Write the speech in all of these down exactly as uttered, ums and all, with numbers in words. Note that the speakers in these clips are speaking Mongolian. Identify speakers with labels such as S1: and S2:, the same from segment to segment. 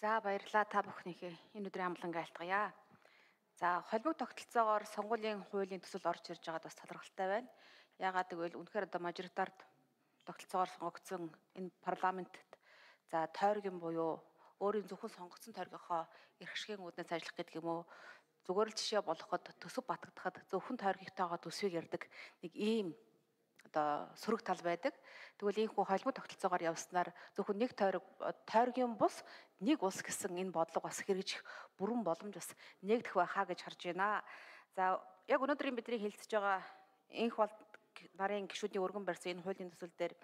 S1: За баярлалаа та бүхнийхээ энэ өдрийн амлан айлтгая. За холбог тогтолцоогоор сонгуулийн хуулийн төсөл орж ирж байгаад бас талархалтай байна. Яагаад гэвэл үнэхээр одоо мажоритард тогтолцоогоор сонгогдсон энэ парламентт за тойргийн буюу өөрийн зөвхөн сонгогдсон тойргийнхоо эрх ашигын үүднээс ажиллах гэдэг юм уу зүгээр л жишээ болгоход төсөв батгадахад зөвхөн тойргийнхтойгоо төсвийг ярддаг нэг ийм одоо сөрөг тал байдаг. Тэгвэл ийхүү холбоо тогтолцоогоор явснаар зөвхөн нэг тойрог тойргийн бус нэг улс гэсэн энэ бодлого бас хэрэгжих бүрэн боломж бас нэгдэх байхаа гэж харж байна. За яг өнөөдрийн бидний хэлцэж байгаа энх бол нарын гишүүдийн өргөн барьсан энэ хуулийн төсөл дээр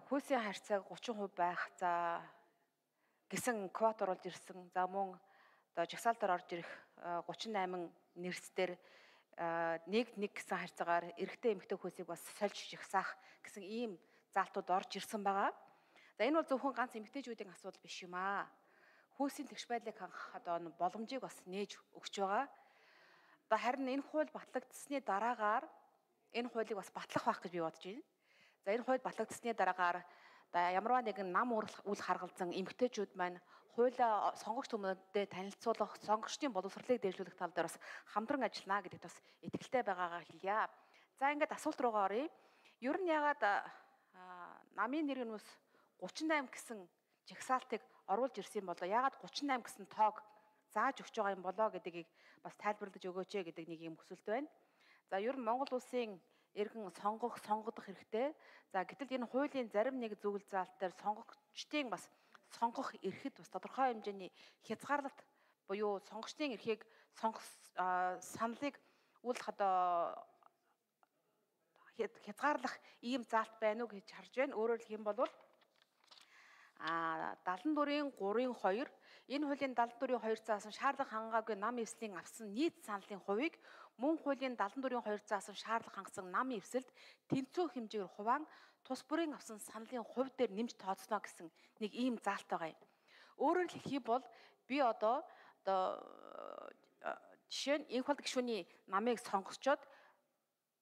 S1: хүйсийн харьцааг гучин хувь байх за гэсэн квот оруулж ирсэн. За мөн одоо жагсаалтаар орж ирэх гучин найман нэрсдэр нэг нэг гэсэн харьцаагаар эрэгтэй эмэгтэй хүйсийг бас сольж жагсаах гэсэн ийм заалтууд орж ирсэн байгаа. За энэ бол зөвхөн ганц эмэгтэйчүүдийн асуудал биш юм аа. Хүйсийн тэгш байдлыг хангах одоо боломжийг бас нээж өгч байгаа. Одоо харин энэ хууль батлагдсны дараагаар энэ хуулийг бас батлах байх гэж би бодож байна. За энэ хууль батлагдсны дараагаар ямарваа нэгэн нам үл харгалзан эмэгтэйчүүд маань хуулиа сонгогч хүмүүдэд танилцуулах, сонгогчдын боловсролыг дээшлүүлэх тал дээр бас хамтран ажиллана гэдэгт бас итгэлтэй байгаагаа хэлье. За ингээд асуулт руугаа оръё. Ер нь ягаад намын нэрийн ус гучин восемь гэсэн жагсаалтыг оруулж ирсэн болоо? Ягаад гучин восемь гэсэн тоог зааж өгч байгаа юм болоо гэдгийг бас тайлбарлаж өгөөч гэдэг нэг юм хүсэлт байна. За ер нь Монгол улсын иргэн сонгох, сонгогдох хэрэгтэй. За гэтэл энэ хуулийн зарим нэг зөвлөл заалт дээр сонгогчдын бас сонгох эрхэд бас тодорхой хэмжээний хязгаарлалт буюу сонгогчдын эрхийг сонгох саналыг үл одоо хязгаарлах ийм заалт байна уу гэж харж байна. Өөрөөр хэлэх юм бол а дадлан дурын гурийн хоёр энэ хуулийн дадлан дурын хоёр заасан шаардлага хангаагүй нам эвслийн авсан нийт саналын хувийг мөн хуулийн дадлан дурын хоёр заасан шаардлага хангасан нам эвсэлд тэнцүү хэмжээгээр хуваан тус бүрийн авсан саналын хувь дээр нэмж тооцно гэсэн нэг ийм заалт байгаа юм. Өөрөөр хэлэх юм бол би одоо одоо жишээ нь энх бол гишүүний намыг сонгосчоод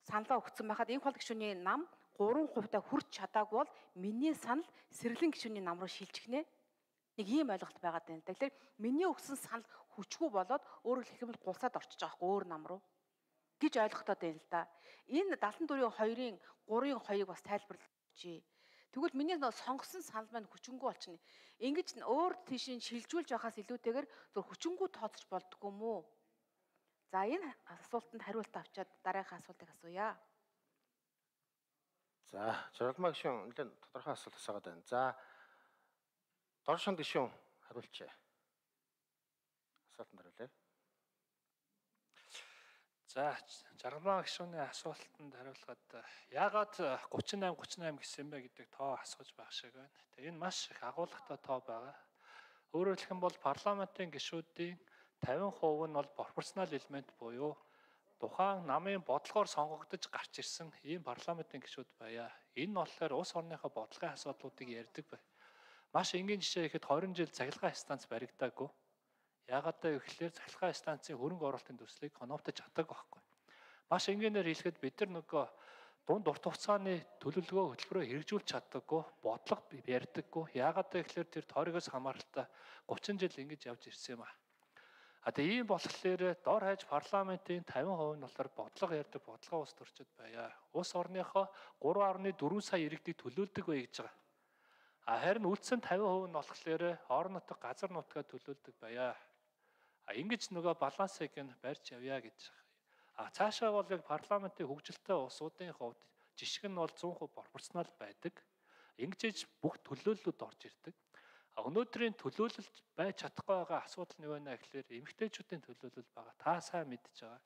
S1: саналаа өгсөн байхад энх бол гишүүний нам гурван хувьтай хүрч чадаагүй бол миний санал сэргэлэн гишүүний нам руу шилжихнэ. Нэг ийм ойлголт байгаад байна. Тэгэхээр миний өгсөн санал хүчгүй болоод өөрөөр хэлэх юм бол гулсаад орчиж байгаа хгүй өөр нам руу гэж ойлгохтой байна л да. Энэ дадлан дурын хоёрын гурийн хоёрыг бас тайлбарлаж өгчээ. Тэгвэл миний нөө сонгосон санал маань хүчингүй болчихно. Ингэж өөр тийш нь шилжүүлж байхаас илүүтэйгээр зөв хүчингүй тооцож болдгоо мүү? За энэ асуултанд хариулт авчаад дараагийн асуултыг асууя.
S2: За, Жаргалмаа гишүүн нэлээд тодорхой асуулт асуугаад байна. За, Доршин гишүүн хариулчээ. Асуултанд хариулъя.
S3: За, Жаргалмаа гишүүний асуултанд хариулахад яагаад гучин восемь гучин восемь гэсэн бэ гэдэг тоо асууж байх шиг байна. Тэгээ энэ маш их агуулгатай тоо байгаа. Өөрөөр хэлэх юм бол парламентын гишүүдийн тавин хувь нь бол пропорционал элемент буюу тухайн намын бодлогоор сонгогдож гарч ирсэн ийм парламентын гишүүд байя. Энэ нь болохоор улс орныхоо бодлогын асуудлуудыг ярьдаг бай. Маш энгийн жишээ ихэд двадцать жил цахилгаан станц баригдаагүй. Яагаад вэ гэхээр цахилгаан станцын хөрөнгө оруулалтын төслийг хоногдож чадаагүй байхгүй. Маш энгийнээр хэлэхэд бид нар нөгөө дунд урт хугацааны төлөвлөгөө хөтөлбөрөөр хэрэгжүүлж чаддаггүй, бодлого ярьдаггүй. Яагаад вэ гэхээр тэр тойрогоос хамааралтай тридцать жил ингэж явж ирсэн юм аа. А тэгээ ийм болохоор дор хаяж парламентын тавин хувь нь болохоор бодлого ярьдаг бодлогын улс төрчид байя. Улс орныхоо гурван арван дөрвөн сая иргэдийг төлөөлдөг бай гэж байгаа. А харин үлдсэн тавин хувь нь болохоор орон нутаг газар нутгаа төлөөлдөг байя. А ингэж нөгөө балансыг нь барьж явъя гэж байгаа. А цаашаа бол яг парламентын хөгжилтэй улсуудын хувьд жишг нь бол cent percent пропорционал байдаг. Ингэж бүх төлөөллүүд орж ирдэг. Өнөөдрийн төлөөлөлд байж чадахгүй байгаа асуудал нь юу вэ гэхээр эмэгтэйчүүдийн төлөөлөл байгаа. Та сайн мэдж байгаа.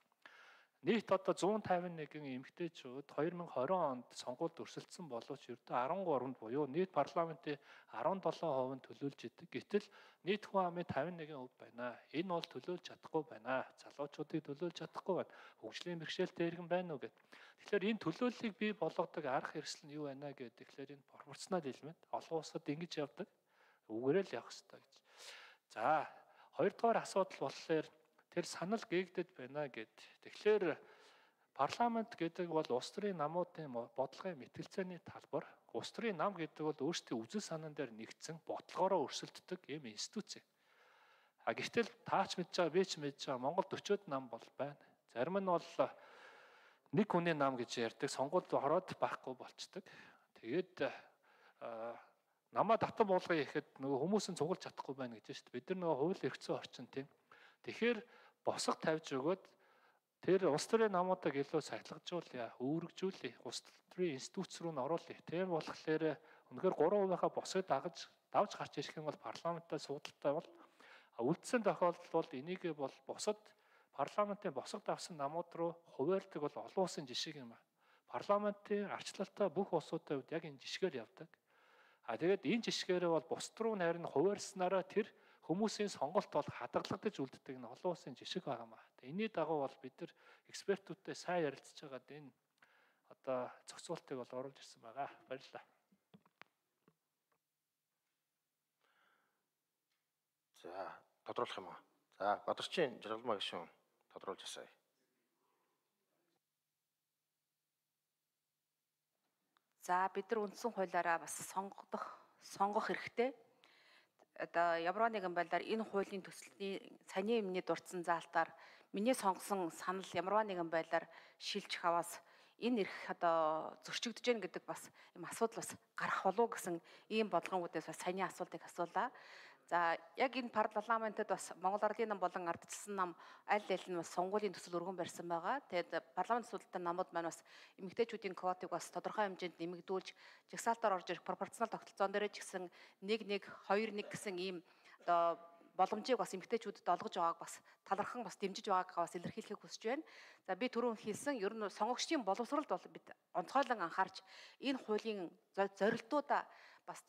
S3: Нийт одоо one fifty-one эмэгтэйчүүд two thousand twenty онд сонгуульд өрсөлдсөн боловч ердөө thirteen-нд буюу нийт парламентын seventeen percent нь төлөөлж идэг. Гэтэл нийт хүн амын fifty-one percent байна. Энэ бол төлөөлж чадахгүй байна. Залуучуудыг төлөөлж чадахгүй байна. Хөгжлийн бэрхшээлтэй иргэн байна уу гэд. Тэгэхээр энэ төлөөллийг бий болгодог арга хэрэгсэл нь юу байна гэдэг. Тэгэхээр энэ пропорционал элемент олон улсад ингэж явдаг. Үгээрээ л явах хэрэгтэй гэж. За, хоёрдугаар асуудал болохоор тэр санал гээгдэд байна гэд. Тэгэхээр парламент гэдэг бол улс төрийн намуудын бодлогын мэтгэлцээний талбар. Улс төрийн нам гэдэг бол өөрсдийн үзэл санаан дээр нэгдсэн бодлогоороо өрсөлддөг ийм институц юм. А гэтэл таач мэдж байгаа, би ч мэдж байгаа Монголд өчөөд нам бол байна. Зарим нь бол нэг хүний нам гэж ярьдаг, сонгуульд ороод байхгүй болчдөг. Тэгээд намаа татан буулгая гэхэд нөгөө хүмүүс нь цуглаж чадахгүй байна гэж шүү дээ. Бид нар нөгөө хууль эрх зүйн орчин тийм. Тэгэхээр босго тавьж өгөөд тэр улс төрийн намуудыг илүү сахилгажуулъя, үүргэжүүлъя, улс төрийн институц руу н оруулъя. Тэр болохоор үнэхээр гурван хувийнхаа босгыг дагаж давж гарч ирэх юм бол парламенттай суудалтай бол үлдсэн тохиолдолд бол энийг бол бусад парламентын босго давсан намууд руу хуваарлдаг бол олон улсын жишээ юм байна. Парламентын арчлалтай бүх улсуудын хувьд яг энэ жишгээр явдаг. А тэгээд энэ жишгээрээ бол бусд руу харин хуваарснараа тэр хүмүүсийн сонголт бол хадгалагдаж үлддэг нь олон улсын жишг байгаа маа. Тэгээд энэний дагуу бол бид нар экспертүүдтэй сайн ярилцж байгаад энэ одоо зохицуултыг бол оруулж ирсэн байгаа. Баярлалаа.
S2: За, тодруулах юм аа. За, Бадарчин Жаргалмаа гишүүн тодруулж асаая.
S1: За бид нар үндсэн хуулиараа бас сонгох сонгох хэрэгтэй. Одоо ямар нэгэн байдлаар энэ хуулийн төслийн саний өмнөний дурдсан заалтаар миний сонгосон санал ямар нэгэн байдлаар шилжих аваас энэ эрх одоо зөрчигдөж гэн гэдэг бас юм асуудал бас гарах болов гэсэн ийм бодлогоодээс бас саний асуултыг асуулаа. За яг энэ парламентод бас Монгол Ардын нам болон ардчилсан нам аль аль нь бас сонгуулийн төсөл өргөн барьсан байгаа. Тэгээд парламент судалтай намууд маань бас эмэгтэйчүүдийн квотыг бас тодорхой хэмжээнд нэмэгдүүлж жагсаалтаар орж ирэх пропорционал тогтолцоон дээр ч гэсэн нэг нэг хоёр нэг гэсэн ийм одоо боломжийг бас эмэгтэйчүүдэд олгож байгааг бас талархан бас дэмжиж байгааг бас илэрхийлэхийг хүсэж байна. За би түрүүн хэлсэн ер нь сонгогчдын боловсролд бол бид онцгойлон анхаарч энэ хуулийн зорилтуудаа бас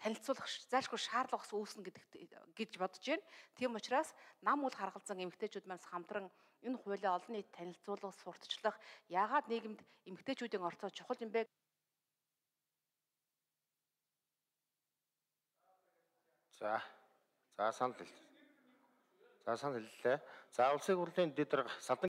S1: танилцуулах зайлшгүй шаардлага үүснэ гэдэгт гэж бодож байна. Тийм учраас нам үл харгалзан эмэгтэйчүүд маань хамтран энэ хуулийг олон нийт танилцуулах, сурталчлах, яагаад нийгэмд эмэгтэйчүүдийн орцоо чухал юм бэ?
S2: За. За санал хэл. За санал хэллээ. За улсын хурлын дэд дарга Салдан